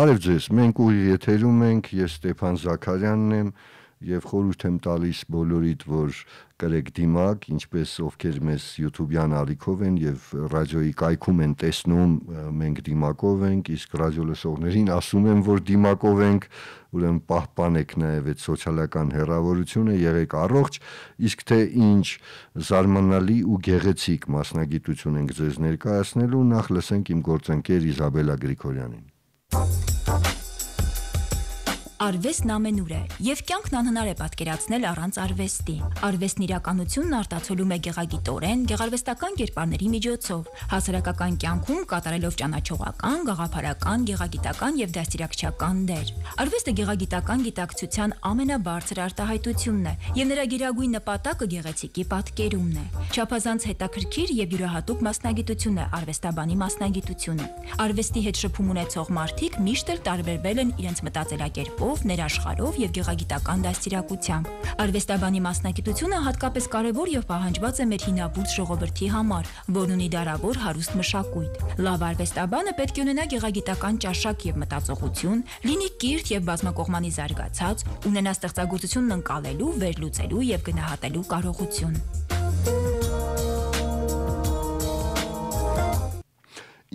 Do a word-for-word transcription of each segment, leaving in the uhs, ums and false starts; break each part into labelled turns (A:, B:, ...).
A: Բարև ձեզ, մենք ուղիղ եթերում ենք, ես Ստեփան Զաքարյանն եմ եւ խորհուրդ եմ տալիս բոլորիդ, որ կրեք դիմակ, ինչպես ովքեր մեզ YouTube-յան ալիքով են եւ ռադիոյի կայքում են տեսնում, մենք դիմակով ենք, իսկ ռադիո լսողներին ասում եմ, որ դիմակով ենք, ուրեմն պահպանեք նաեւ այդ սոցիալական հեռավորությունը, եղեք առողջ, իսկ թե ինչ զարմանալի ու գեղեցիկ մասնագիտություն ենք ձեզ ներկայացնելու, նախ լսենք իմ գործընկեր Իզաբելա Գրիգորյանին։
B: Արվեստն ամենուր է, եւ կյանքն անհնար է պատկերացնել առանց արվեստի։ Արվեստն իրականությունն արտացոլում է գեղագիտորեն, գեղարվեստական կերպարների միջոցով, հասարակական կյանքում կատարելով ճանաչողական, գաղափարական, գեղագիտական եւ դաստիարակչական դեր։ Արվեստը գեղագիտական գիտակցության ամենաբարձր արտահայտությունն է, եւ նրա գերագույն նպատակը գեղեցիկի պատկերումն է։ Չափազանց հետաքրքիր եւ յուրահատուկ մասնագիտություն է արվեստաբանի մասնագիտությունը։ Արվեստի հետ շփում ունեցող մարդիկ միշտ էլ տարբերվել են իրենց մտածելակերպով, ներաշխարհով եւ գեղագիտական դաստիարակությամբ։ Արվեստաբանի մասնագիտությունը հատկապես կարևոր եւ պահանջված է մեր հինավուրց ժողովրդի համար, որն ունի դարավոր հարուստ մշակույթ։ Լավ արվեստաբանը պետք է ունենա գեղագիտական ճաշակ եւ մտածողություն, լինի կիրթ եւ բազմակողմանի զարգացած, ունենա ստեղծագործությունն ընկալելու, վերլուծելու եւ գնահատելու կարողություն։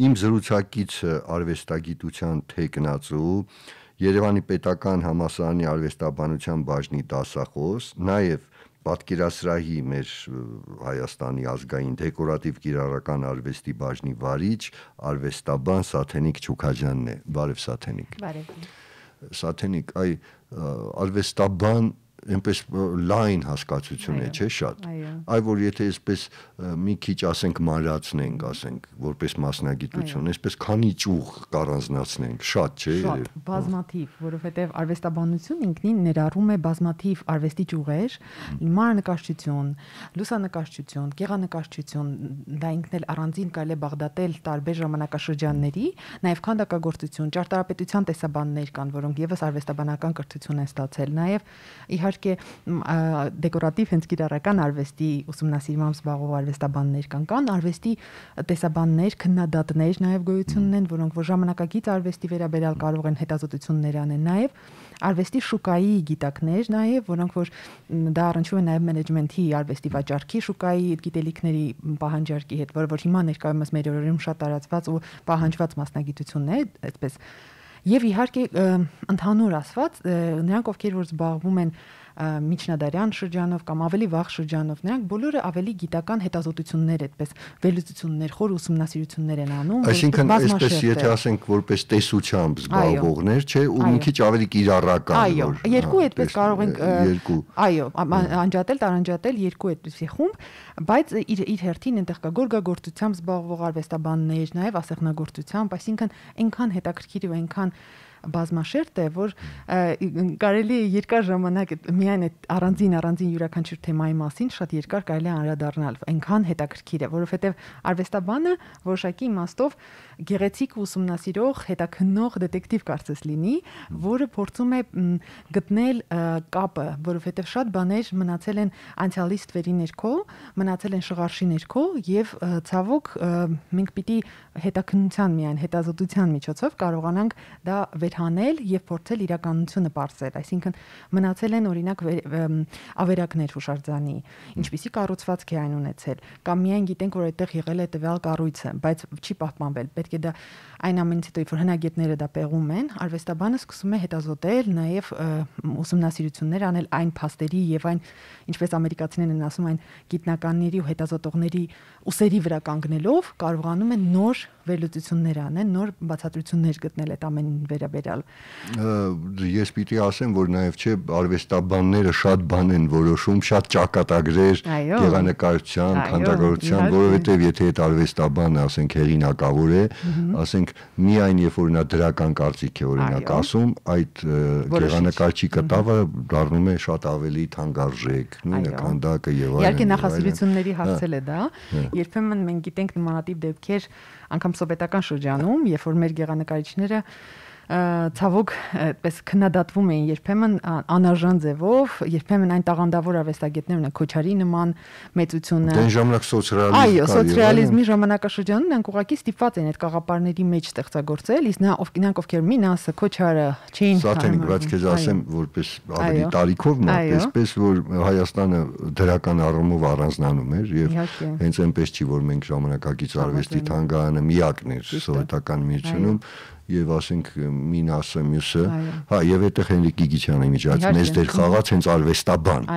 A: Իմ զրուցակիցը արվեստագիտության թեկնածու, Երևանի պետական համալսարանի արվեստաբանության բաժնի դասախոս, նաև պատկերասրահի մեր Հայաստանի ազգային դեկորատիվ կիրառական արվեստի բաժնի վարիչ, արվեստաբան Սաթենիկ Չուքաջյանն է։ Բարև Սաթենիկ։
C: Բարև։
A: Սաթենիկ, այ արվեստաբան այնպես լայն հասկացություն է, չէ՞ շատ։ Այ որ եթե այսպես մի քիչ ասենք մանրացնենք, ասենք, որպես մասնագիտություն, այսպես քանի ճյուղ կառանձնացնենք, շատ չէ։
C: Շատ, բազմաթիվ, որովհետև արվեստաբանություն ինքնին ներառում է բազմաթիվ արվեստի ճյուղեր, մանրանկարչություն, լուսանկարչություն, գեղանկարչություն, դա ինքն էլ առանձին կարելի է բաղդատել տարբեր ժամանակաշրջանների, նաև քանդակագործություն, ճարտարապետության տեսաբաններ կան, որոնք եւս արվեստաբանական կրթություն են ստացել, նաև իհարկե դեկորատիվ հենց կիրառական արվեստի ուսումնասիրմամբ զբաղվող արվեստաբաններ կան, կան արվեստի տեսաբաններ, քննադատներ նաև գոյություն ունեն, որոնք որ ժամանակակից արվեստի վերաբերյալ կարող են հետազոտություններ անեն, նաև արվեստի շուկայի գիտակներ, նաև որոնք որ դա առնչվում է նաև մենեջմենթի արվեստի վաճառքի շուկայի գիտելիքների պահանջարկի հետ, որը որ հիմա ներկայումս մեր օրերում շատ տարածված ու պահանջված մասնագիտություն է, այդպես Եվ իհարկե ընդհանուր ասված, նրանք ովքեր որ զբաղվում են միջնադարյան շրջանով կամ ավելի վաղ շրջանով, նրանք բոլորը ավելի գիտական հետազոտություններ, այդպես վերլուծություններ, խոր ուսումնասիրություններ են անում,
A: այսինքն այսպես եթե ասենք որպես տեսությամբ զբաղվողներ, չէ, ու մի քիչ ավելի կիրառական։
C: Այո, երկու այդպես կարող ենք այո, անջատել, տարանջատել երկու այդպիսի խումբ, բայց իր իր հերթին այնտեղ կա գորգագործությամբ զբաղվող արվեստաբաններ, նաև ասեղնագործությամբ, այսինքն այնքան հետաքրքիր ու այնքան բազմաշերտ է, որ կարելի է երկար ժամանակ միայն այդ առանձին առանձին յուրաքանչյուր թեմայի մասին շատ երկար կարելի է անդրադառնալ, այնքան հետաքրքիր է, որովհետև արվեստաբանը որոշակի իմաստով գեղեցիկ ուսումնասիրող, հետաքննող դետեկտիվ կարծես լինի, որը փորձում է գտնել կապը, որովհետև շատ բաներ մնացել են անցյալի ստվերի ներքո, մնացել են շղարշի ներքո եւ ցավոք մենք պիտի հետաքննության միայն հետազոտության միջոցով կարողանանք դա հանել եւ փորձել իրականությունը բարձել, այսինքն մնացել են օրինակ ավերակներ հուշարձանի, ինչպիսի կառուցվածք է այն ունեցել, կամ միայն գիտենք, որ այդտեղ եղել է տվյալ կառույցը, բայց չի պահպանվել, պետք է դա այն ամենից հետո, որ հնագետները դա պեղում են, արվեստաբանը սկսում է հետազոտել, նաեւ ուսումնասիրություններ անել այն փաստերի եւ այն, ինչպես ամերիկացիներն են ասում, այն գիտնականների ու հետազոտողների ուսերի վրա կանգնելով կարողանում են նոր վերլուծություններ անեն, նոր բացատրություններ գտնել այդ ամենին վերաբերյալ։
A: Ես պիտի ասեմ, որ նաև չէ արվեստաբանները շատ բան են որոշում, շատ ճակատագրեր գեղանկարչության, քանդակագործության, որովհետև եթե այդ արվեստաբանը, ասենք, հեղինակավոր է, ասենք, միայն երբ որ նա դրական կարծիք է օրինակ ասում, այդ գեղանկարչի կտավը դառնում է շատ ավելի թանկարժեք, նույնը քանդակը եւ այլն։
C: Իհարկե նախասիրությունների հարցել է դա, երբեմն մենք գիտենք նմանատիպ դեպքեր անգամ սովետական շրջանում, երբ որ մեր գեղանկարիչները ցավոք այդպես քննադատվում էին երբեմն անարժան ձևով, երբեմն այն տաղանդավոր արվեստագետներն են Քոչարի նման մեծությունը։
A: Դեն ժամանակ սոցիալիզմի
C: Այո, սոցիալիզմի ժամանակաշրջանում նրանք ուղղակի ստիպված են այդ գաղափարների մեջ ստեղծագործել, իսկ նա նրանք ովքեր Մինասը, Քոչարը չէին
A: Սաթենիկ, բայց քեզ ասեմ, որպես ավելի տարիքով մատեսպես, որ Հայաստանը դրական առումով առանձնանում էր եւ հենց այնպես չի, որ մենք ժամանակակից արվեստի թանգարանը միակն էր սովետական միությունում եւ ասենք Մինասը մյուսը, հա, եւ այդտեղ Հենրիկ Գիգիչյանը միջած մեծ դեր խաղաց հենց արվեստաբան,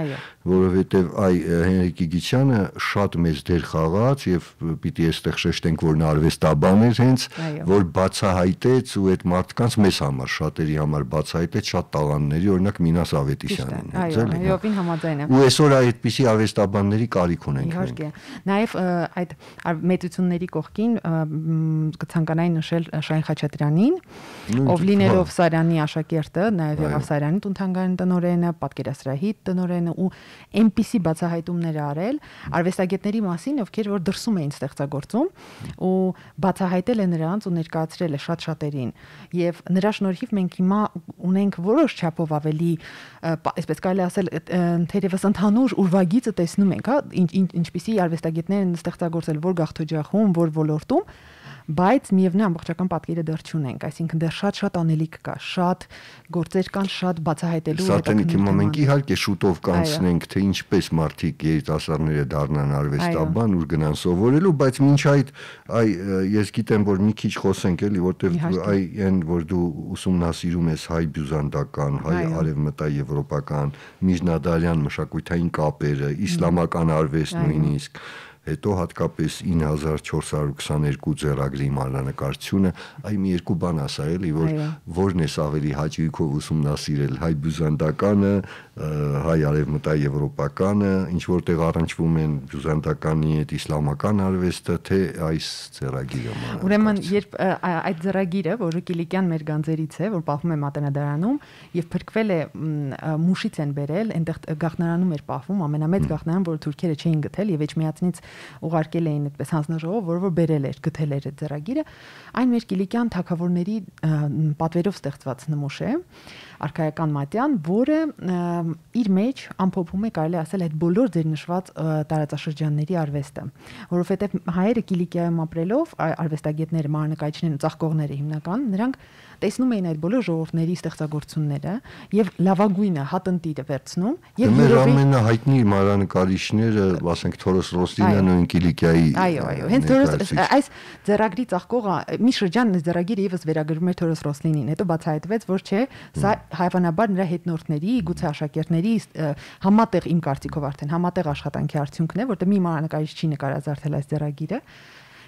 A: որովհետեւ այ Հենրիկ Գիգիչյանը շատ մեծ դեր խաղաց եւ պիտի այստեղ շեշտենք, որ նա արվեստաբան էր հենց, որ բացահայտեց ու այդ մարդկանց մեզ համար, շատերի համար բացահայտեց շատ տաղանդների, օրինակ Մինաս Ավետիսյանին,
C: այո, այովին համաձայն եմ։
A: Ու այսօր այդպիսի արվեստաբանների կարիք ունենք։
C: Իհարկե։ Նաեւ այդ մեծությունների կողքին կցանկանայի նշել Շահին Խաչատրյանի ով լինելով Սարյանի աշակերտը, նաև եղավ Սարյանի տուն-թանգարանի տնօրենը, պատկերասրահի տնօրենը ու այնպիսի բացահայտումներ արել արվեստագետների մասին, ովքեր որ դրսում էին ստեղծագործում ու բացահայտել է նրանց ու ներկայացրել է շատ շատերին։ Եվ նրա շնորհիվ մենք հիմա ունենք որոշ չափով ավելի, այսպես կարելի ասել, թերևս ընդհանուր ուրվագիծը տեսնում ենք, հա, ինչպիսի արվեստագետներ են ստեղծագործել որ գաղթօջախում, որ ոլորտում, բայց միևնույն ամբողջական պատկերը դեռ չունենք, այսինքն դեռ շատ-շատ անելիք կա, շատ գործեր կան, շատ բացահայտելու
A: Սատենիկ հիմա մենք իհարկե շուտով կանցնենք, թե ինչպես մարդիկ երիտասարդները դառնան արվեստաբան, ուր գնան սովորելու, բայց մինչ այդ այ ես գիտեմ, որ մի քիչ խոսենք էլի, որտեղ այ այն որ դու ուսումնասիրում ես հայ բյուզանդական, հայ արևմտաեվրոպական, միջնադարյան մշակութային կապերը, իսլամական արվեստ նույնիսկ հետո հատկապես ինը հազար չորս հարյուր քսաներկու ձեռագրի մանրանկարչությունը, այ մի երկու բան ասա էլի, որ որն է ավելի հաճույքով ուսումնասիրել հայ բյուզանդականը, հայ արևմտաեվրոպականը, ինչ որտեղ առնչվում են բյուզանդականի հետ իսլամական արվեստը, թե այս ձեռագիրը մանրանկարչությունը։
C: Ուրեմն երբ այդ ձեռագիրը, որը Կիլիկյան մեր գանձերից է, որ պահվում է Մատենադարանում, եւ փրկվել է Մուշից են բերել, այնտեղ գաղտնարանում էր պահվում, ամենամեծ գաղտնարան, որը թուրքերը չէին գտել եւ Էջմիածնից ուղարկել էին այդպես հանձնաժողով, որ որ բերել էր, գտել էր այդ ձեռագիրը, այն մեր Կիլիկյան թագավորների պատվերով ստեղծված նմուշ է, արքայական մատյան, որը իր մեջ ամփոփում է, կարելի ասել, այդ բոլոր ձեր նշված տարածաշրջանների արվեստը, որովհետև հայերը Կիլիկիայում ապրելով, արվեստագետները, մանրանկարիչները, ծաղկողները հիմնական, նրանք տեսնում էին այդ բոլոր ժողովուրդների ստեղծագործությունները եւ լավագույնը հատնտիրը վերցնում եւ
A: մեր ամենահայտնի մանրանկարիչները, ասենք Թորոս Ռոսլինյանը ու Կիլիկիայի։
C: Այո, այո, հենց Թորոս այս ձեռագրի ծաղկողը մի շրջան ձեռագիրը եւս վերագրվում էր Թորոս Ռոսլինին, հետո բացահայտվեց, որ չէ, սա հայվանաբար նրա հետնորդների, գուցե աշակերտների համատեղ իմ կարծիքով արդեն համատեղ աշխատանքի արդյունքն է, որտեղ մի մանրանկարիչ չի նկարազարդել այս ձեռագիրը։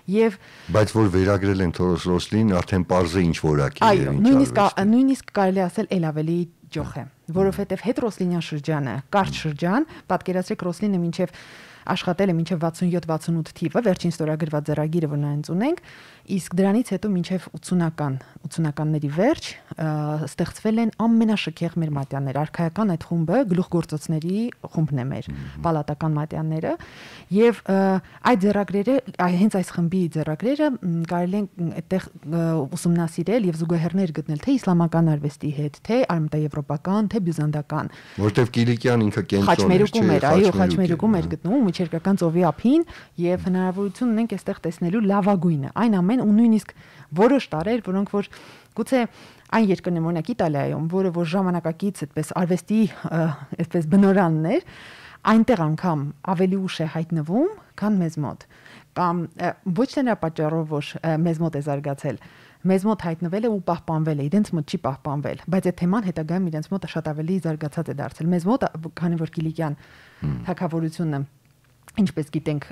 C: Եվ
A: բայց որ վերագրել են Թորոս Ռոսլին, արդեն parz է ինչ որակի է։
C: Այո, նույնիսկ նույնիսկ կարելի ասել էլ ավելի ջոխ է, որովհետև հետ Ռոսլինյան շրջանը, կարճ շրջան, պատկերացրեք Ռոսլինը մինչև աշխատել է մինչև վաթսունյոթ վաթսունութ թիվը, վերջին ստորագրված ձեռագիրը, որ նրանց ունենք, իսկ դրանից հետո մինչև ութսունական, ութսունականների վերջ ստեղծվել են ամենաշքեղ մեր մատյաններ, արքայական այդ խումբը գլուխգործոցների խումբն է մեր, պալատական մատյանները, եւ այդ ձեռագրերը, հենց այս խմբի ձեռագրերը կարելի է այդտեղ ուսումնասիրել եւ զուգահեռներ գտնել թե իսլամական արվեստի հետ, թե արևմտաեվրոպական, թե բյուզանդական,
A: որտեվ Կիլիկյան ինքը
C: կենտրոն էր, այո, Խաչմերուկում էր գտնում Միջերկական ծովի ափին եւ հնարավորություն ունենք այստեղ տեսնելու լավագույնը, այն ամեն ու նույնիսկ որոշ տարեր, որոնք որ գուցե այն երկրներում, օրինակ Իտալիայում, որը որ ժամանակակից այդպես արվեստի այդպես բնորանն էր, այնտեղ անգամ ավելի ուշ է հայտնվում, քան մեզ մոտ, կամ ոչ թե նրա պատճառով, որ մեզ մոտ է զարգացել, մեզ մոտ հայտնվել է ու պահպանվել է, իրենց մոտ չի պահպանվել, բայց այդ թեման հետագայում իրենց մոտ շատ ավելի զարգացած է դարձել։ Մեզ մոտ, քանի որ Կիլիկյան թագավորությունը ինչպես գիտենք,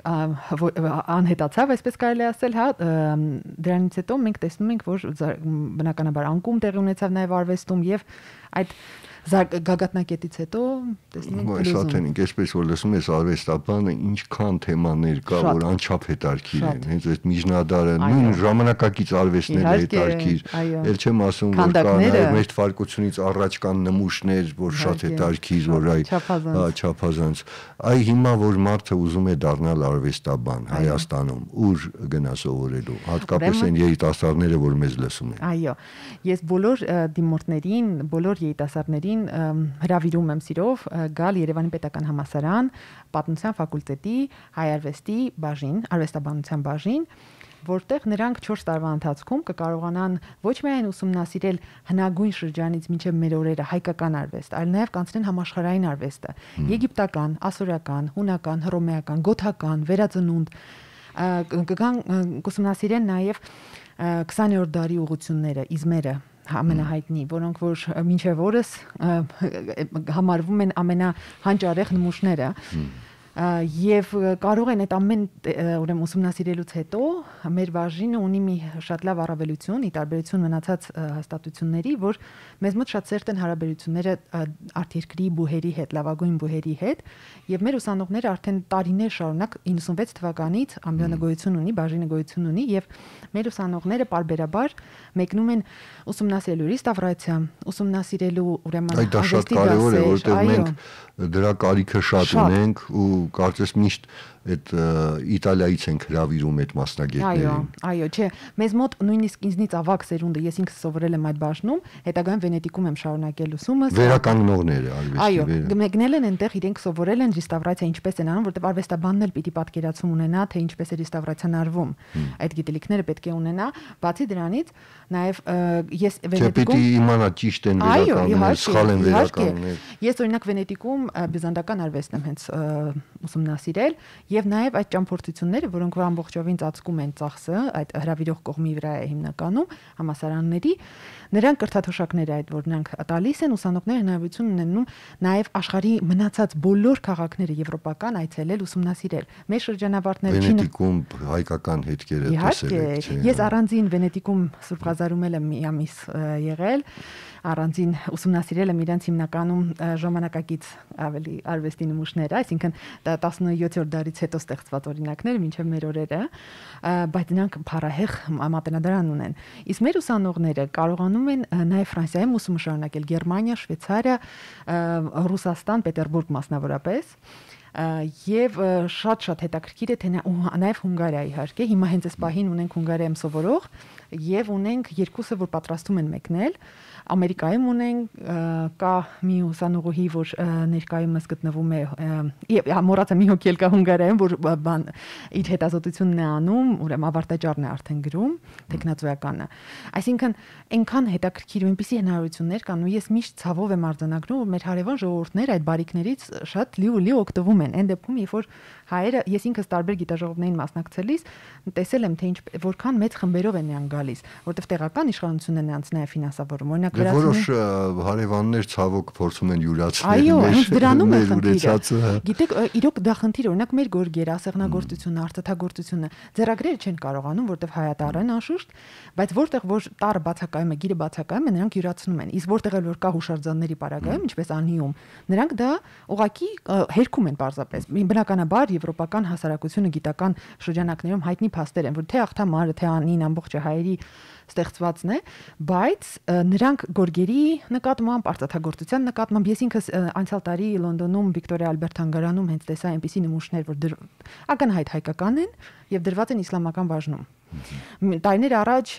C: անհետացավ, այսպես կարելի ասել, հա, դրանից հետո մենք տեսնում ենք, որ բնականաբար անկում տեղի ունեցավ նաև արվեստում եւ այդ Գագաթնակետից հետո տեսնում ենք
A: փլուզում։ Այս հատենին, այսպես որ լսում ես արվեստաբանը ինչքան թեմաներ կա, որ անչափ հետարքիր են, հենց այդ միջնադարը, նույն ժամանակակից արվեստներ հետարքիր, ել չեմ ասում, որ կա նաև մեր թվարկությունից առաջ կան նմուշներ, որ շատ հետարքիր, որ այ չափազանց։ Այ հիմա որ մարդը ուզում է դառնալ արվեստաբան Հայաստանում, ուր գնա սովորելու, հատկապես այն երիտասարդները, որ մեզ լսում են։
C: Այո, ես բոլոր դիմորդներին, բոլոր երիտասարդներին հրավիրում եմ սիրով գալ Երևանի Պետական Համալսարան, Պատմության ֆակուլտետի հայ արվեստի բաժին, արվեստաբանության բաժին, որտեղ նրանք չորս տարվա ընթացքում կկարողանան ոչ միայն ուսումնասիրել հնագույն շրջանից մինչև մեր օրերը հայկական արվեստ, այլ նաև կանցնեն համաշխարհային արվեստը, եգիպտական, ասորական, հունական, հռոմեական, գոթական, վերածնունդ, կգան կուսումնասիրեն նաև քսաներորդ դարի ուղղությունները, իզմերը ամենահայտնի, որոնք որ մինչև օրս համարվում են ամենահանճարեղ նմուշները եւ կարող են այդ ամեն ուրեմն ուսումնասիրելուց հետո մեր բաժինը ունի մի շատ լավ առավելություն, ի տարբերություն մնացած հաստատությունների, որ մեզ մոտ շատ սերտ են հարաբերությունները արտերկրի բուհերի հետ, լավագույն բուհերի հետ, եւ մեր ուսանողները արդեն տարիներ շարունակ իննսունվեց թվականից ամբիոնը գոյություն ունի, բաժինը գոյություն ունի եւ մեր ուսանողները պարբերաբար մեկնում են ուսումնասիրելու ռեստավրացիա, ուսումնասիրելու ուրեմն
A: այդ դա շատ կարեւոր է, որտեղ մենք դրա կարիքը շատ ունենք ու կարծես միշտ այդ Իտալիայից ենք հրավիրում այդ մասնագետներին։
C: Այո, այո, չէ, մեզ մոտ նույնիսկ ինձնից ավագ սերունդը, ես ինքս սովորել եմ այդ բաժնում, հետագայում Վենետիկում եմ շարունակել ուսումս։
A: Վերականգնողները արվեստի։
C: Այո, մեկնել են այնտեղ, իրենք սովորել են ռեստավրացիա ինչպես են անում, որտեղ արվեստաբանն էլ պիտի պատկերացում ունենա, թե ինչպես է ռեստավրացիան արվում։ Այդ գիտելիքները պետք է ունենա, բացի դրանից, նաև ես
A: Վենետիկում Պիտի իմանա ճիշտ են վերականգնել, սխալ են վերականգնել։
C: Ես օրինակ Վենետիկում բյուզանդական արվեստն եմ հենց ուսումնասիրել եւ նաեւ այդ ճամփորդությունները, որոնք որ ամբողջովին ծածկում են ծախսը, այդ հրավիրող կողմի վրա է հիմնականում համասարանների, նրանք կրթաթոշակներ այդ որ նրանք տալիս են, ուսանողները հնարավորություն ունենում նաեւ աշխարհի մնացած բոլոր քաղաքները եվրոպական այցելել, ուսումնասիրել։ Մեր շրջանավարտները
A: Վենետիկում հայկական հետքերը տեսել եք,
C: չէ։ Ես առանձին Վենետիկում Սուրբ Ղազարում եմ մի ամիս եղել, առանձին ուսումնասիրել եմ իրենց հիմնականում ժամանակակից ավելի արվեստի նմուշները, այսինքն տասնյոթերորդ դարից հետո ստեղծված օրինակներ մինչև մեր օրերը, բայց նրանք փառահեղ մատենադարան ունեն։ Իսկ մեր ուսանողները կարողանում են նաև Ֆրանսիայում ուսումը շարունակել, Գերմանիա, Շվեյցարիա, Ռուսաստան, Պետերբուրգ մասնավորապես, եւ շատ-շատ հետաքրքիր է թե նաև Հունգարիա իհարկե, հիմա հենց այս պահին ունենք Հունգարիայում սովորող եւ ունենք երկուսը, որ պատրաստում են մեկնել, Ամերիկայում ունենք կա մի ուսանողուհի, որ ներկայումս գտնվում է, մոռացա մի հոգի էլ կա Հունգարիայում, որ բան իր հետազոտությունն է անում, ուրեմն ավարտաճառն է արդեն գրում, տեխնացուականը։ Այսինքն այնքան հետաքրքիր ու այնպիսի հնարավորություններ կան, ու ես միշտ ցավով եմ արձանագրում, որ մեր հարևան ժողովուրդները այդ բարիքներից շատ լի ու լի օգտվում են։ Այն դեպքում, երբ որ հայերը, ես ինքս տարբեր գիտաժողովներին մասնակցելիս տեսել եմ, թե ինչ որքան մեծ խմբերով են նրանք գալիս, որտեղ տեղական իշխանությունն է նրանց նաև ֆինանսավորում։ Օրինակ
A: Որոշ հարևաններ ցավոք փորձում են յուրացնել
C: Այո, հենց դրանում է խնդիրը։ Գիտեք, իրոք դա խնդիր, օրինակ մեր գորգերը, ասեղնագործությունը, արծաթագործությունը ձեռագրերը չեն կարողանում, որտեղ հայատառ են անշուշտ, բայց որտեղ որ տարը բացակայում է, գիրը բացակայում է, նրանք յուրացնում են։ Իսկ որտեղ էլ որ կա հուշարձանների պարագայում, ինչպես Անիում, նրանք դա ուղակի հերքում են պարզապես։ Բնականաբար եվրոպական հասարակությունը գիտական շրջանակներում հայտնի փաստեր են, որ թե աղթամարը, թե Անին ամբողջը հայերի ստեղծվածն է, բայց նրանք գորգերի նկատմամբ, արծաթագործության նկատմամբ, ես ինքս անցյալ տարի Լոնդոնում Վիկտորիա Ալբերտ թանգարանում հենց տեսա այնպիսի նմուշներ, որ ակնհայտ հայկական են եւ դրված են իսլամական բաժնում։ Տարիներ առաջ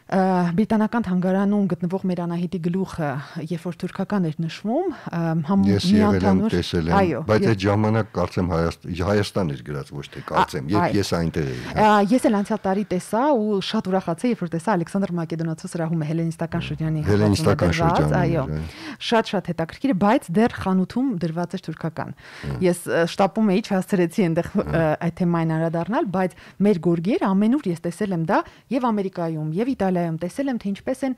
C: Բրիտանական թանգարանում գտնվող մեր Անահիտի գլուխը, երբ որ թուրքական էր նշվում,
A: միանթանուր տեսել եմ, բայց այդ ժամանակ կարծեմ Հայաստան էր գրած, ոչ թե կարծեմ, երբ ես այնտեղ էի։
C: Ես էլ անցյալ տարի տեսա ու շատ ուրախացա, երբ որ տեսա Ալեքսանդր Մակեդոնացու սրահում հելենիստական շրջանի
A: հելենիստական շրջանը,
C: այո, շատ-շատ հետաքրքիր, բայց դեռ խանութում դրված էր թուրքական։ Ես շտապում էի, չհասցրեցի այնտեղ այդ թեմային անդրադառնալ, բայց մեր գորգերը ամենուր ես տեսել եմ դա եւ Ամերիկայում, եւ Իտալիայում տեսել եմ, թե ինչպես են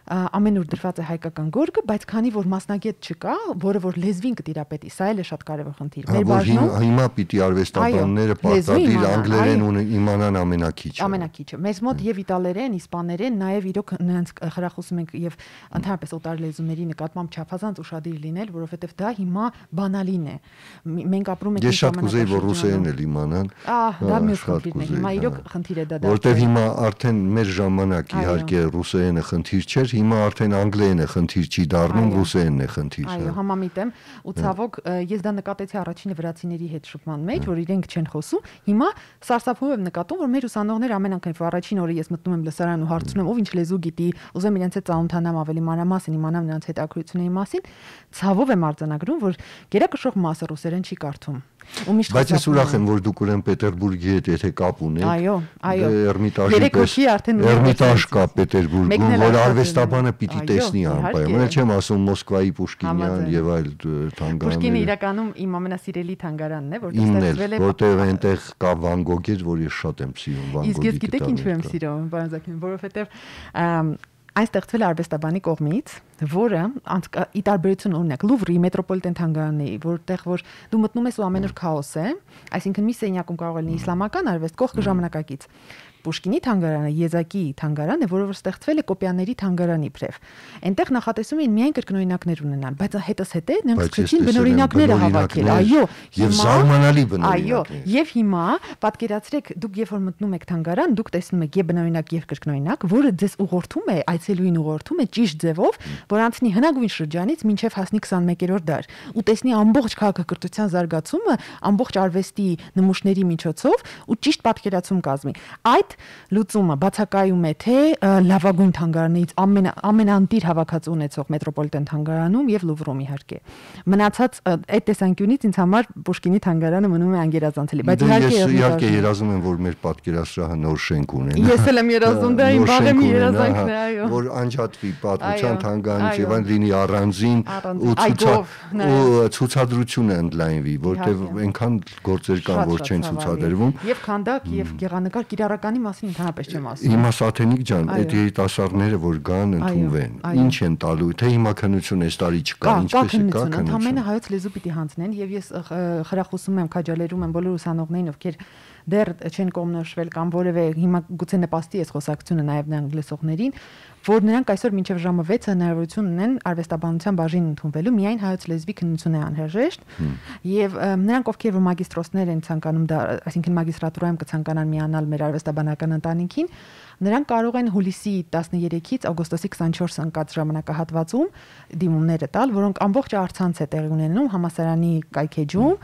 C: ամենուր դրված է հայկական գորգը, բայց քանի որ մասնագետ չկա, որը որ լեզվին կտիրապետի, սա էլ է շատ կարևոր խնդիր։
A: Մեր բաժնում հիմա պիտի արվեստաբանները պարտադիր անգլերեն իմանան ամենակիչը։
C: Ամենակիչը։ Մեզ մոտ եւ իտալերեն, իսպաներեն, նաեւ իրոք նրանց խրախուսում ենք եւ ընդհանրապես օտար լեզուների նկատմամբ չափազանց ուշադիր լինել, որովհետեւ դա հիմա բանալին է։ Մենք ապրում ենք
A: Ես շատ կուզեի որ ռուսերեն էլ իմանան։
C: Ահա, դա մյուս խնդիրն է։ Հիմա իրոք խնդիր է դա։
A: Որտեւ հիմա արդեն մեր ժամանակ իհարկե ռուսերենը խնդիր չէր, հիմա արդեն անգլերենը խնդիր չի դառնում, ռուսերենն է խնդիր։
C: Այո, համամիտ եմ, ու ցավոք ես դա նկատեցի առաջինը վրացիների հետ շփման մեջ, որ իրենք չեն խոսում։ Հիմա սարսափում եմ նկատում, որ մեր ուսանողները ամեն անգամ առաջին օրը ես մտնում եմ լսարան ու հարցնում եմ, ով ինչ լեզու գիտի, ուզեմ իրենց հետ ծանոթանամ ավելի մանրամասն, իմանամ նրանց հետաքրքրությունների մասին, ցավով եմ արձանագրում, որ գերակշռող մասը ռուսերեն չի կարդում։
A: Բայց ես ուրախ եմ, որ դուք ուրեմն Պետերբուրգի հետ եթե կապ ունեք։
C: Այո, այո։
A: Էրմիտաժի Էրմիտաժ կա Պետերբուրգում, որ արվեստաբանը պիտի տեսնի անպայման։ Չեմ ասում Մոսկվայի Պուշկինյան եւ այլ թանգարաններ։
C: Պուշկինը իրականում իմ ամենասիրելի թանգարանն է, որտեղ
A: ստեղծվել է, որտեղ այնտեղ կա Վան Գոգեր, որ ես շատ եմ սիրում Վան Գոգի։
C: Իսկ ես գիտեք ինչու եմ սիրում, պարոն Զաքյան, որովհետեւ այն ստեղծվել է արվեստաբանի կողմից, որը ի տարբերություն օրինակ Լուվրի մետրոպոլիտեն թանգարանի, որտեղ որ դու մտնում ես ու ամեն օր քաոս է, այսինքն մի սենյակում կարող է լինի իսլամական արվեստ, կողքը ժամանակակից։ Պուշկինի թանգարանը Եզակի թանգարան է, որը որ ստեղծվել է Կոպյանների թանգարանի իբրև։ Այնտեղ նախատեսում էին միայն կրկնօրինակներ ունենալ, բայց հետս հետե նրանք սկսեցին բնօրինակները հավաքել, այո,
A: եւ զարմանալի բնօրինակներ։
C: Այո, եւ հիմա պատկերացրեք, դուք երբ որ մտնում եք թանգարան, դուք տեսնում եք եւ բնօրինակ եւ կրկնօրինակ, որը ձեզ ուղղորդում է, այցելուին ուղղորդում է ճիշտ ձևով, որ անցնի հնագույն շրջանից մինչեւ հասնի քսաներկերորդ դար, ու տեսնի ամբողջ քաղաքակրթության զարգացումը, ամբողջ արվեստի նմուշների միջոցով ու ճիշտ պատկերացում կազմի։ Այդ լուծումը բացակայում է թե լավագույն թանգարանից ամեն ամենանտիր հավաքածու ունեցող մետրոպոլիտեն թանգարանում եւ Լուվրում իհարկե։ Մնացած այդ տեսանկյունից ինձ համար Պուշկինի թանգարանը մնում է անգերազանցելի, բայց
A: իհարկե իհարկե երազում եմ որ մեր պատկերասրահը նոր շենք ունենա։
C: Ես էլ եմ երազում, դա իմ բաղեմի երազանքն է, այո։
A: Որ անջատվի պատմության թանգարանից եւ այն լինի առանձին ու ցուցադրությունը ընդլայնվի, որտեղ այնքան գործեր կան, որ չեն ցուցադրվում։
C: Եվ քանդակ եւ գեղանկար կիրառականի մասին ընդհանրապես չեմ ասում։
A: Հիմա Սաթենիկ ջան, այդ երիտասարդները որ գան ընդունվեն, ինչ են տալու, թե հիմա քննություն այս տարի չկա, ինչպես է կա քննություն։
C: Ընդամենը հայոց լեզու պիտի հանձնեն եւ ես խրախուսում եմ, քաջալերում եմ բոլոր ուսանողներին, ովքեր դեռ չեն կողմնորոշվել կամ որևէ հիմա գուցե նպաստի է խոսակցությունը նաեւ նրանք լսողներին, որ նրանք այսօր մինչև ժամը վեցը հնարավորություն ունեն արվեստաբանության բաժին ընդունվելու, միայն հայոց լեզվի քննություն է անհրաժեշտ եւ նրանք ովքեր որ մագիստրոսներ են ցանկանում դա, այսինքն մագիստրատուրայում կցանկանան միանալ մեր արվեստաբանական ընտանիքին, նրանք կարող են հուլիսի տասներեքից օգոստոսի քսանչորսը ընկած ժամանակահատվածում դիմումները տալ, որոնք ամբողջ առցանց է տեղի ունենում համալսարանի կայքեջում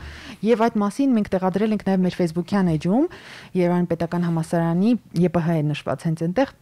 C: եւ այդ մասին մենք տեղադրել ենք նաեւ մեր Facebook-յան էջում, Երևանի պետական համալսարանի ԵՊՀ է նշված հենց այնտեղ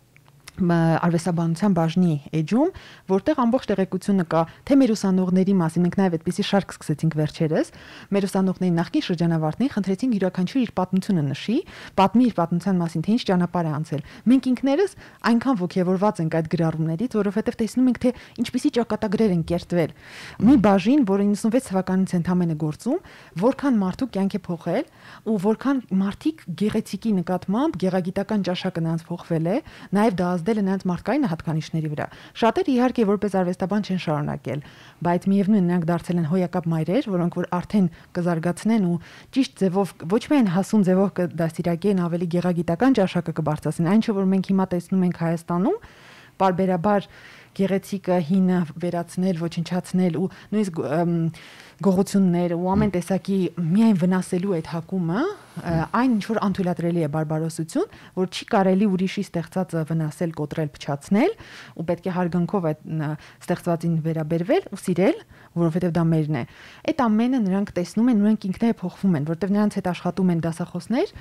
C: արվեստաբանության բաժնի էջում, որտեղ ամբողջ տեղեկությունը կա թե մեր ուսանողների մասին, մենք նաև այդպիսի շարք սկսեցինք վերջերս, մեր ուսանողների նախկին շրջանավարտներին խնդրեցինք յուրաքանչյուր իր պատմությունը նշի, պատմի իր պատմության մասին, թե ինչ ճանապարհ է անցել։ Մենք ինքներս այնքան ոգևորված ենք այդ գրառումներից, որովհետև տեսնում ենք, թե ինչպիսի ճակատագրեր են կերտվել։ Մի բաժին, որը իննսունվեց թվականից ընդամենը գործում, որքան մարդու կյանք է փոխել ու որքան մարդիկ գեղեցիկի նկատմամբ գեղագիտական ճաշակը նրանց փոխվել է, նաև դա ազդել է նրանց մարդկային հատկանիշների վրա։ Շատերը իհարկե որպես արվեստաբան չեն շարունակել, բայց միևնույն նրանք դարձել են հոյակապ մայրեր, որոնք որ արդեն կզարգացնեն ու ճիշտ ձևով ոչ միայն հասուն ձևով կդաստիարակեն, ավելի գեղագիտական ճաշակը կբարձրացնեն, այն չէ որ մենք հիմա տեսնում ենք Հայաստանում, բարբերաբար գեղեցիկը հինը վերացնել, ոչնչացնել ու նույնիսկ գողությունները ու ամեն տեսակի միայն վնասելու այդ հակումը, այն ինչ որ անթույլատրելի է բարբարոսություն, որ չի կարելի ուրիշի ստեղծածը վնասել, կոտրել, փչացնել ու պետք է հարգանքով այդ ստեղծվածին վերաբերվել ու սիրել, որովհետև դա մերն է։ Այդ ամենը նրանք տեսնում են, նրանք ինքները փոխվում են, որովհետև նրանց հետ աշխատում են դասախոսներ,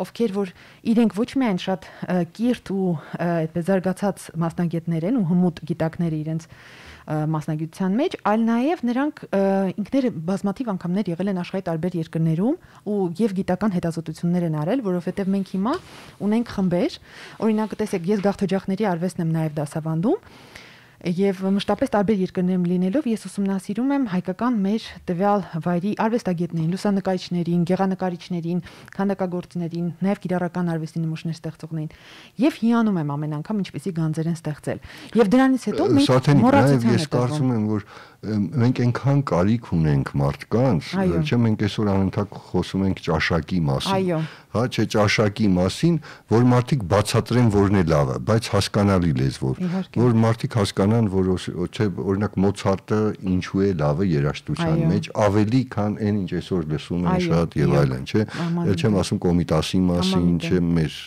C: ովքեր որ իրենք ոչ միայն շատ կիրթ ու այդպես զարգացած մասնագետներ են ու հմուտ գիտակներ իրենց մասնագիտության մեջ, այլ նաև նրանք ինքները բազմաթիվ անգամներ եղել են աշխարհի տարբեր երկրներում ու եւ գիտական հետազոտություններ են արել, որովհետեւ մենք հիմա ունենք խմբեր, օրինակ տեսեք, ես գաղթօջախների արվեստն եմ նաև դասավանդում, Եվ մշտապես տարբեր երկրներում լինելով ես ուսումնասիրում եմ հայկական մեր տվյալ վայրի արվեստագետներին, լուսանկարիչներին, գեղանկարիչներին, քանդակագործներին, նաև կիրառական արվեստի նմուշներ ստեղծողներին եւ հիանում եմ ամեն անգամ ինչպեսի գանձեր են ստեղծել։ Եվ դրանից հետո մենք մոռացության
A: ես կարծում եմ, որ մենք այնքան կարիք ունենք մարդկանց, չէ՞ մենք այսօր անընդհատ խոսում ենք ճաշակի մասին։ Հա, չէ, ճաշակի մասին, որ մարդիկ բացատրեն որն է լավը, բայց հասկանալի լեզվով, որ մարդիկ հասկանան, որ չէ, օրինակ Մոցարտը ինչու է լավը երաժշտության մեջ, ավելի քան այն ինչ այսօր լսում են շատ եւ այլն, չէ։ Էլ չեմ ասում Կոմիտասի մասին, չէ, մեր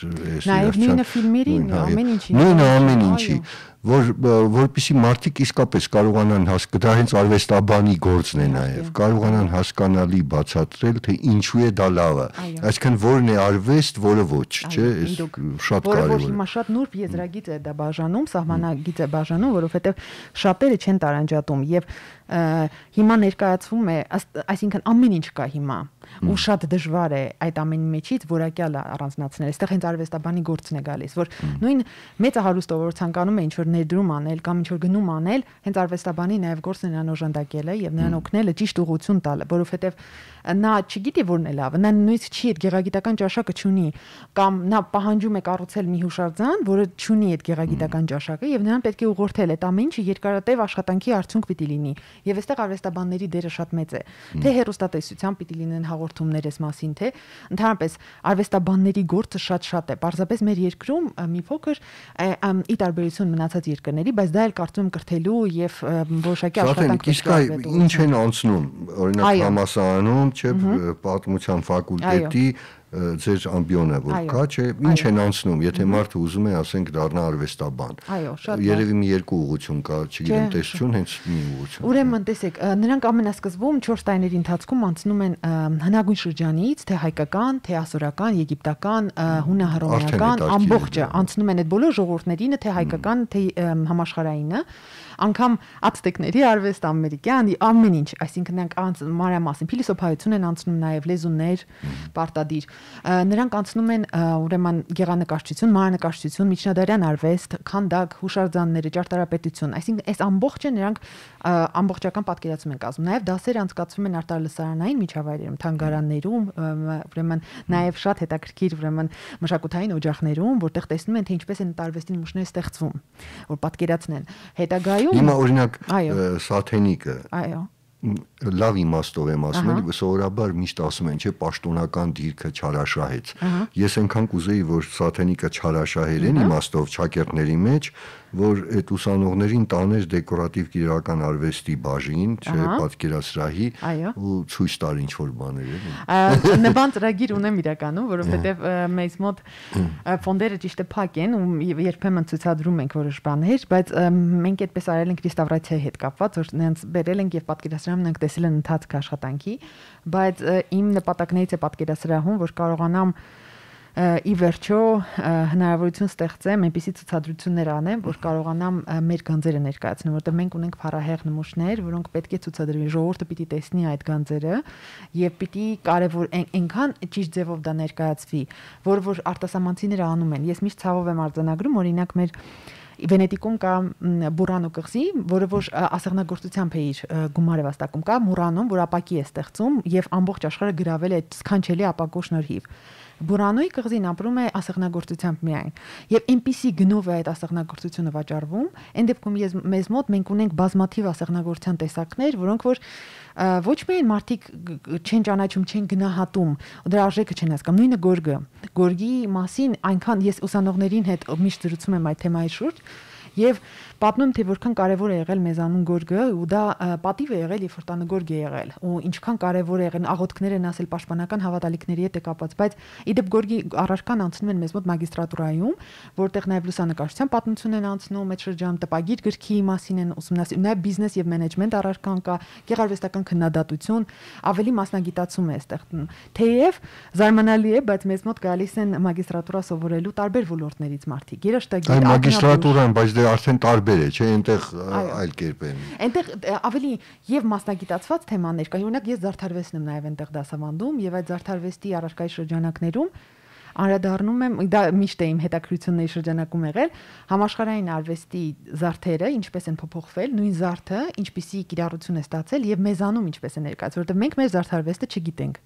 C: Նաև նույնը ֆիլմերի, ամեն ինչի։
A: Նույնը ամեն ինչի որ որպեսի մարդիկ իսկապես կարողանան հասկանալ, դա հենց արվեստաբանի գործն է նաև, կարողանան հասկանալի բացատրել, թե ինչու է դա լավը, այսինքն որն է արվեստ, որը ոչ, չէ, շատ կարևոր է։
C: Որը որ հիմա շատ նուրբ եզրագիծ է դա բաժանում, սահմանագիծ է բաժանում, որովհետև շատերը չեն տարանջատում եւ հիմա ներկայացվում է, այսինքն ամեն ինչ կա հիմա ու շատ դժվար է այդ ամենի մեջից որակյալ առանձնացնել։ Այստեղ հենց արվեստաբանի գործն է գալիս, որ նույն մեծահարուստը, որ ցանկանում է ինչ-որ ներդրում անել կամ ինչ-որ գնում անել, հենց արվեստաբանի նաև գործն է նրան օժանդակելը եւ նրան օգնելը ճիշտ ուղղություն տալը, որովհետեւ նա չգիտի որն է լավը, նա նույնիսկ չի այդ գեղագիտական ճաշակը չունի, կամ նա պահանջում է կառուցել մի հուշարձան, որը չունի այդ գեղագիտական ճաշակը եւ նրան պետք է ուղղորդել այդ ամեն ինչը երկարատև աշխատանքի արդյունք պիտի լինի։ Եվ այստեղ արվեստաբանների դերը շատ մեծ է։ Թե հեռուստատեսության պիտի լինեն հաղորդումներ այս մասին, թե ընդհանրապես արվեստաբանների գործը շատ-շատ է։ Պարզապես մեր երկրում մի փոքր ի տարբերություն մնացած երկրների, բայց դա էլ կարծում եմ կրթելու եւ որոշակի աշխատանք
A: պետք է ինչ են անցնում, օրինակ համալսարանում, չէ, պատմության ֆակուլտետի ձեր ամբիոնը որ կա, չէ, ինչ են անցնում, եթե մարդը ուզում է, ասենք, դառնա արվեստաբան։ Երևի մի երկու ուղղություն կա, չգիտեմ, տեսություն, հենց մի ուղղություն։
C: Ուրեմն, տեսեք, նրանք ամենասկզբում չորս տարիների ընթացքում անցնում են հնագույն շրջանից, թե հայկական, թե ասորական, եգիպտական, հունահռոմեական, ամբողջը անցնում են այդ բոլոր ժողովուրդներինը, թե հայկական, թե համաշխարհայինը, անգամ ացտեկների արվեստ, ամերիկյան, ամեն ինչ, այսինքն նրանք մանրամասն փիլիսոփայություն են անցնում, նաև լեզուներ, պարտադիր։ Նրանք անցնում են ուրեմն գեղանկարչություն, մանրանկարչություն, միջնադարյան արվեստ, քանդակ, հուշարձանները, ճարտարապետություն, այսինքն այս ամբողջը նրանք ամբողջական պատկերացում են կազմում։ Նաև դասեր անցկացվում են արտալսարանային միջավայրերում, թանգարաններում, ուրեմն նաև շատ հետաքրքիր ուրեմն մշակութային օջախներում, որտեղ տեսնում են, թե ինչպես են տարվեստի նմուշները ստեղծվում, որ պատկերացնեն։ Հետագայում
A: հիմա օրինակ Սաթենիկը,
C: այո,
A: լավ իմաստով եմ ասում, էլի սովորաբար միշտ ասում են, չէ, պաշտոնական դիրքը չարաշահեց։ Ես այնքան կուզեի, որ Սաթենիկը չարաշահեր են իմաստով ճակերտների մեջ, որ այդ ուսանողներին տաներ դեկորատիվ կիրառական արվեստի բաժին, չէ, պատկերասրահի ու ցույց տար ինչ որ բաներ
C: էլի։ Նման ծրագիր ունեմ իրականում, որովհետև մեզ մոտ ֆոնդերը ճիշտ է փակ են ու երբեմն ցույցադրում ենք որոշ բաներ, բայց մենք այդպես արել ենք ռեստավրացիայի հետ կապված, որ նրանց բերել ենք եւ պատկերասրահում նրանք տեսել են ընթացք աշխատանքի, բայց իմ նպատակներից է պատկերասրահում, որ կարողանամ ի վերջո հնարավորություն ստեղծեմ այնպիսի ցուցադրություններ անեմ, որ կարողանամ մեր գանձերը ներկայացնել, որտեղ մենք ունենք փառահեղ նմուշներ, որոնք պետք է ցուցադրվի, ժողովուրդը պիտի տեսնի այդ գանձերը եւ պիտի կարեւոր այնքան ճիշտ ձևով դա ներկայացվի, որ որ արտասահմանցիները անում են։ Ես միշտ ցավով եմ արձանագրում, օրինակ մեր Վենետիկում կա Բուրանո կղզի, որը որ ասեղնագործությամբ է իր գումարը վաստակում, կա Մուրանում, որ ապակի է ստեղծում եւ ամբողջ աշխարհը գրավել է այդ սքանչելի ապակու շնորհիվ։ Բուրանոյի կղզին ապրում է ասեղնագործությամբ միայն եւ այնպիսի գնով է այդ ասեղնագործությունը վաճառվում, այն դեպքում ես մեզ մոտ մենք ունենք բազմաթիվ ասեղնագործության տեսակներ, որոնք որ ոչ միայն մարդիկ չեն ճանաչում, չեն գնահատում, դրա արժեքը չեն հասկանում, նույնը գորգը։ Գորգի մասին այնքան ես ուսանողներին հետ միշտ զրուցում եմ այդ թեմայի շուրջ եւ պատմում թե որքան կարեւոր է եղել մեզանուն գորգը ու դա պատիվ է եղել եւ որտանը գորգ է եղել ու ինչքան կարեւոր է եղել աղոթքներ են ասել պաշտպանական հավատալիքների հետ է կապված, բայց իդեպ գորգի առարկան անցնում են մեզ մոտ մագիստրատուրայում, որտեղ նաեւ լուսանկարչության պատմություն են անցնում, այդ շրջանում տպագիր գրքի մասին են ուսումնասիրում, նաեւ բիզնես եւ մենեջմենտ առարկան կա, գեղարվեստական քննադատություն, ավելի մասնագիտացում է այստեղ։ Թեև զարմանալի է, բայց մեզ մոտ գալիս են մագիստրատուրա սովորելու տարբեր ոլորտներից մարդիկ։ Երաշտագիր,
A: մագիստրատուրան, բայց դե արդեն տարբեր է, չէ, այնտեղ այլ կերպ է։
C: Այնտեղ ավելի եւ մասնագիտացված թեմաներ կա։ Օրինակ ես զարդարվեստն եմ նաեւ այնտեղ դասավանդում եւ այդ զարդարվեստի առարկայի շրջանակներում անդրադառնում եմ, դա միշտ է իմ հետաքրքրությունների շրջանակում եղել, համաշխարհային արվեստի զարդերը ինչպես են փոփոխվել, նույն զարդը ինչպիսի կիրառություն է ստացել եւ մեզանում ինչպես է ներկայացված, որովհետեւ մենք մեր զարդարվեստը չգիտենք։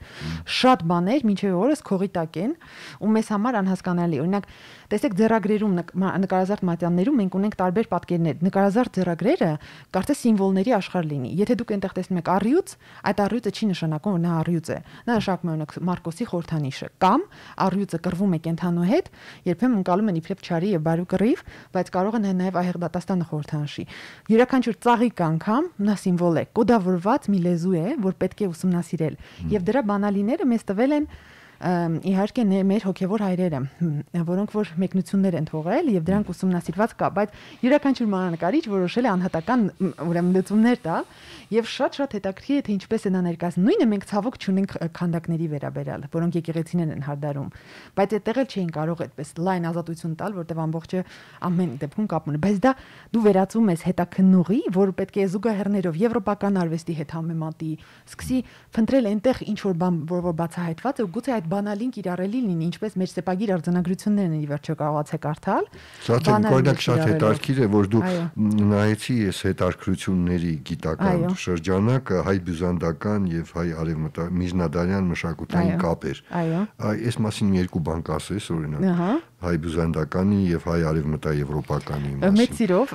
C: Շատ բաներ մինչեւ օրս քողի տակ են ու մեզ համար անհասկանալի։ Օրինակ, տեսեք ձեռագրերում նկարազարդ մատյաններում մենք ունենք տարբեր պատկերներ։ Նկարազարդ ձեռագրերը կարծես սիմվոլների աշխարհ լինի։ Եթե դուք այնտեղ տեսնում եք առյուծ, այդ առյուծը չի նշանակում, որ նա առյուծ է։ Նա նշանակում է օրինակ Մարկոսի խորհրդանիշը կամ առյուծը կռվում է կենթանու հետ, երբեմն ընկալում են իբրև չարի եւ բարու կռիվ, բայց կարող են նաեւ այհեղ դատաստանը խորհրդանշի։ Յուրաքանչյուր ծաղիկ անգամ նա սիմվոլ է, կոդավորված մի լեզու է, որ պետք է ուսումնասիրել։ Եվ դրա բանալիները մեզ տվել են իհարկե մեր հոգևոր հայրերը, որոնք որ մեկնություններ են թողել եւ դրանք ուսումնասիրված կա, բայց յուրաքանչյուր մանրանկարիչ որոշել է անհատական ուրեմն լուծումներ տալ եւ շատ-շատ հետաքրքիր է թե ինչպես է նա ներկայացնում։ Նույնը մենք ցավոք չունենք քանդակների վերաբերյալ, որոնք եկեղեցիներն են հարդարում, բայց այդտեղ էլ չէին կարող այդպես լայն ազատություն տալ, որտեղ ամբողջը ամեն դեպքում կապ ունի, բայց դա դու վերածում ես հետաքննողի, որ պետք է զուգահեռներով եվրոպական արվեստի հետ համեմատի, սկսի փնտրել այնտեղ ինչ որ բան, որ որ բացահայտված է, ու գուցե այդ բանալին կիրառելի լինի, ինչպես մեր սեպագիր արձանագրություններն են ի վերջո կարողացեք կարդալ։
A: Շատ օրինակ շատ հետաքրքիր է, որ դու նայեցի ես հետաքրքրությունների գիտական շրջանակը հայ-բյուզանդական եւ հայ-արևմտյան միջնադարյան մշակութային կապեր։ Այս մասին երկու բան կասես, օրինակ հայ-բյուզանդականի եւ հայ-արևմտաեվրոպականի մասին։
C: Մեծ սիրով,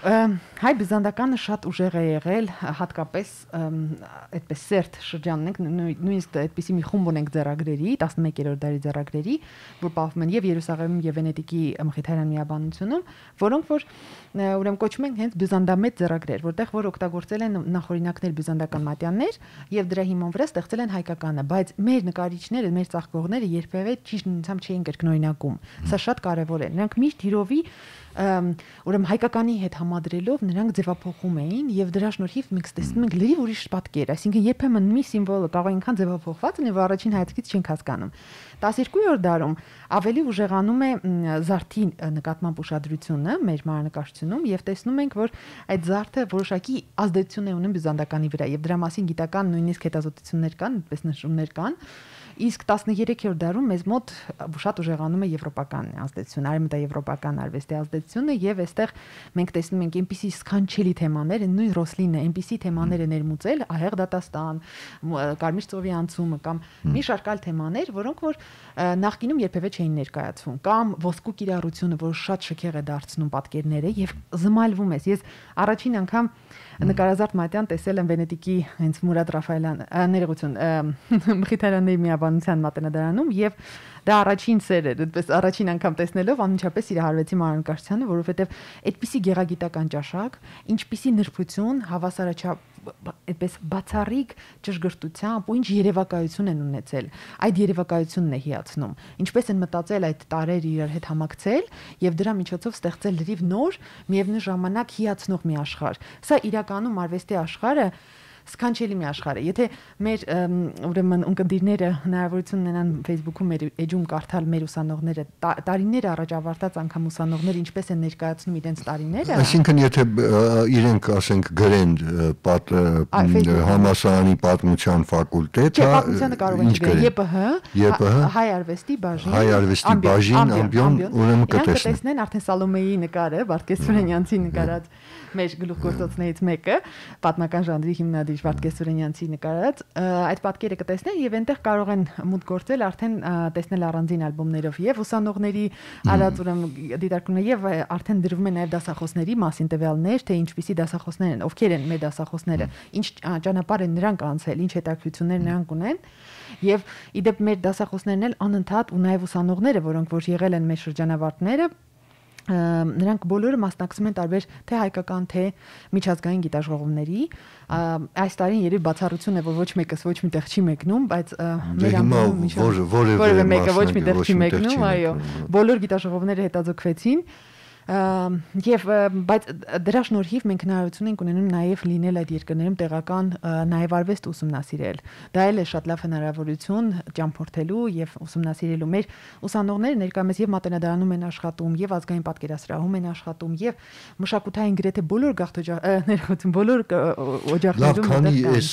C: հայ-բյուզանդականը շատ ուժեղ է եղել, հատկապես այդպես սերտ շրջանն ենք, նույնիսկ այդպիսի մի խումբ ունենք ձեռագրերի, տասնմեկերորդ դարի ձեռագրերի, որ պահվում են եւ Երուսաղեմում եւ Վենետիկի Մխիթարյան միաբանությունում, որոնք որ ուրեմն կոչվում են հենց բյուզանդամետ ձեռագրեր, որտեղ որ օգտագործել են նախօրինակներ բյուզանդական մատյաններ եւ դրա հիման վրա ստեղծել են հայկականը, բայց մեր նկարիչները, մեր ծաղկողները երբևէ ճիշտ նույնությամբ չէին կրկնօրինակում։ Սա շատ կարևոր է։ Նրանք միշտ հիրովի ուրեմն հայկականի հետ համադրելով նրանք ձևափոխում էին եւ դրա շնորհիվ մենք տեսնում ենք լրիվ ուրիշ պատկեր, այսինքն երբեմն մի սիմվոլը կարող է այնքան ձևափոխված լինի, որ առաջին հայացքից չենք հասկանում։ տասներկուերորդ դարում ավելի ուժեղանում է զարդի նկատմամբ ուշադրությունը մեր մանրանկարչությունում եւ տեսնում ենք, որ այդ զարդը որոշակի ազդեցություն է ունեն բյուզանդականի վրա եւ դրա մասին գիտական նույնիսկ հետազոտություններ կան, այդպես նշումներ կան։ Իսկ տասներեքերորդ դարում մեզ մոտ շատ ուժեղանում է եվրոպական ազդեցությունը, արևմտաեվրոպական արվեստի ազդեցությունը եւ այստեղ մենք տեսնում ենք այնպիսի սքանչելի թեմաներ, նույն Ռոսլինը այնպիսի թեմաներ է ներմուծել, ահեղ դատաստան, կարմիր ծովի անցումը կամ մի շարք այլ թեմաներ, որոնք որ նախկինում երբևէ չէին ներկայացվում, կամ ոսկու կիրառությունը, որ շատ շքեղ է դարձնում պատկերները եւ զմալվում ես։ Ես առաջին անգամ նկարազարդ մատյան տեսել եմ Վենետիկի հենց Մուրադ Ռաֆայելյան, ներողություն, Մխիթարյանների միաբանության մատենադարանում եւ դա առաջին սեր էր, այդպես առաջին անգամ տեսնելով անմիջապես սիրահարվեցի մանրանկարչությանը, որովհետեւ այդպիսի գեղագիտական ճաշակ, ինչպիսի նրբություն, հավասարաչափ այդպես բացառիկ ճշգրտությամբ ու ինչ երևակայություն են ունեցել։ Այդ երևակայությունն է հիացնում։ Ինչպես են մտածել այդ տարերը իրար հետ համակցել եւ դրա միջոցով ստեղծել լրիվ նոր, միևնույն ժամանակ հիացնող մի աշխարհ։ Սա իրականում արվեստի աշխարհը սքանչելի մի աշխարհ է։ Եթե մեր ուրեմն ունկնդիրները հնարավորություն ունենան Facebook-ում մեր էջում կարդալ մեր ուսանողները տարիներ առաջ ավարտած անգամ ուսանողները ինչպես են ներկայացնում իրենց տարիները,
A: այսինքն եթե իրենք ասենք գրեն համալսարանի պատմության ֆակուլտետ,
C: պատմությանը կարող են գրել ԵՊՀ, հայ արվեստի բաժին,
A: հայ արվեստի բաժին, ամբիոն, ուրեմն
C: կտեսնեն արդեն Սալոմեի նկարը, Վարդգես Սուրենյանցի նկարած մեր գլուխգործոցներից մեկը, պատմական ժանրի հիմնադիր Վարդգես Սուրենյանցի նկարած, այդ պատկերը կտեսնեն եւ այնտեղ կարող են մուտք գործել արդեն տեսնել առանձին ալբոմներով եւ ուսանողների արած ուրեմն դիտարկումներ եւ արդեն դրվում են նաեւ դասախոսների մասին տվյալներ, թե ինչպիսի դասախոսներ են, ովքեր են մեր դասախոսները, ինչ ճանապարհ են նրանք անցել, ինչ հետաքրքրություններ նրանք ունեն եւ իդեպ մեր դասախոսներն էլ անընդհատ ու նաեւ ուսանողները, որոնք որ եղել են մեր շրջանավարտները, նրանք բոլորը մասնակցում են տարբեր թե հայկական, թե միջազգային գիտաժողովների։ Այս տարին երբ բացառություն է, որ ոչ մեկս ոչ միտեղ չի մեկնում, բայց
A: մեր ամբողջ որևէ
C: մեկը ոչ միտեղ չի մեկնում, այո, բոլոր գիտաժողովները հետաձգվեցին Եվ բայց դրա շնորհիվ մենք հնարավորություն ենք ունենում նաև լինել այդ երկրներում տեղական նաև արվեստ ուսումնասիրել։ Դա էլ է շատ լավ հնարավորություն ճամփորդելու եւ ուսումնասիրելու։ Մեր ուսանողները ներկայումս եւ մատենադարանում են աշխատում, եւ ազգային պատկերասրահում են աշխատում, եւ մշակութային գրեթե բոլոր գաղթօջախներում, բոլոր օջախներում։
A: Լավ, քանի էս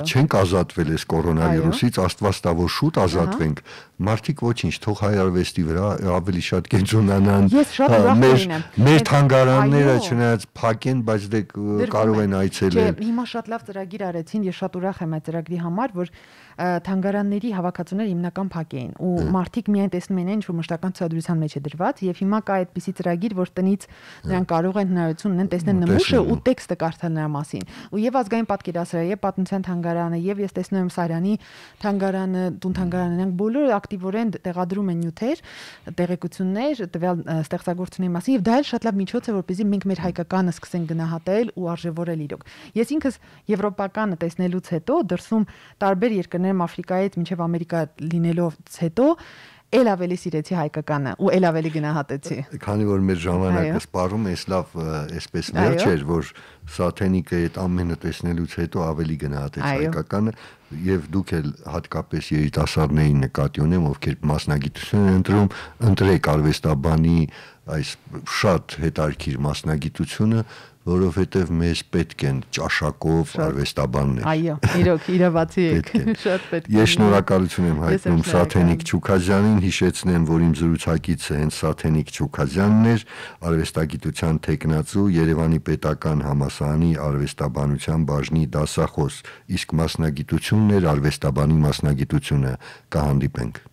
A: չենք ազատվել էս կորոնավիրուսից, Աստված տա որ շուտ ազատվենք, մարդիկ ոչինչ, թող հայ արվեստի վրա ավելի շատ կենտրոնանան։
C: Ես շատ ուրախ
A: Մեր թանգարանները չնայած փակ են, բայց դե կարող են այցելել։
C: Չէ, հիմա շատ լավ ծրագիր արեցին, ես շատ ուրախ եմ այդ ծրագրի համար, որ թանգարանների հավաքածուները հիմնական փակ էին ու մարդիկ միայն տեսնում են ինչ որ մշտական ցուցադրության մեջ է դրված եւ հիմա կա այդպիսի ծրագիր, որ տնից նրանք կարող են հնարավորություն ունեն տեսնել նմուշը ու տեքստը կարդալ նրա մասին։ Ու եւ ազգային պատկերասրահը, եւ պատմության թանգարանը, եւ ես տեսնում եմ Սարյանի թանգարանը, տուն թանգարանը, նրանք բոլորը ակտիվորեն տեղադրում են նյութեր, տեղեկություններ տվյալ ստեղծագործությունների մասին եւ դա էլ շատ լավ միջոց է, որպեսզի մենք մեր հայկականը սկսենք գնահատել ու արժևորել իրոք։ Ես ինքս եվրոպականը տեսնելուց հետո դրսում տարբեր երկրներում Աֆրիկայից մինչև Ամերիկա լինելով հետո էլ ավելի սիրեցի հայկականը ու էլ ավելի գնահատեցի։
A: Քանի որ մեր ժամանակը սպառում է, լավ, այսպես վերջ էր, որ Սաթենիկը այդ ամենը տեսնելուց հետո ավելի գնահատեց հայկականը եւ դուք էլ հատկապես երիտասարդներին նկատի ունեմ, ովքեր մասնագիտություն են ընտրում, ընտրեք արվեստաբանի այս շատ հետաքրքիր մասնագիտությունը, որովհետև մեզ պետք են ճաշակով արվեստաբաններ։
C: Այո, իրոք, իրավացի եք, շատ պետք է։
A: Ես շնորհակալություն եմ հայտնում Սաթենիկ Չուքազյանին, հիշեցնեմ, որ իմ զրուցակիցը հենց Սաթենիկ Չուքազյանն էր, արվեստագիտության թեկնածու, Երևանի Պետական համալսարանի արվեստաբանության բաժնի դասախոս, իսկ մասնագիտությունն էր արվեստաբանի մասնագիտությունը։ Կհանդիպենք։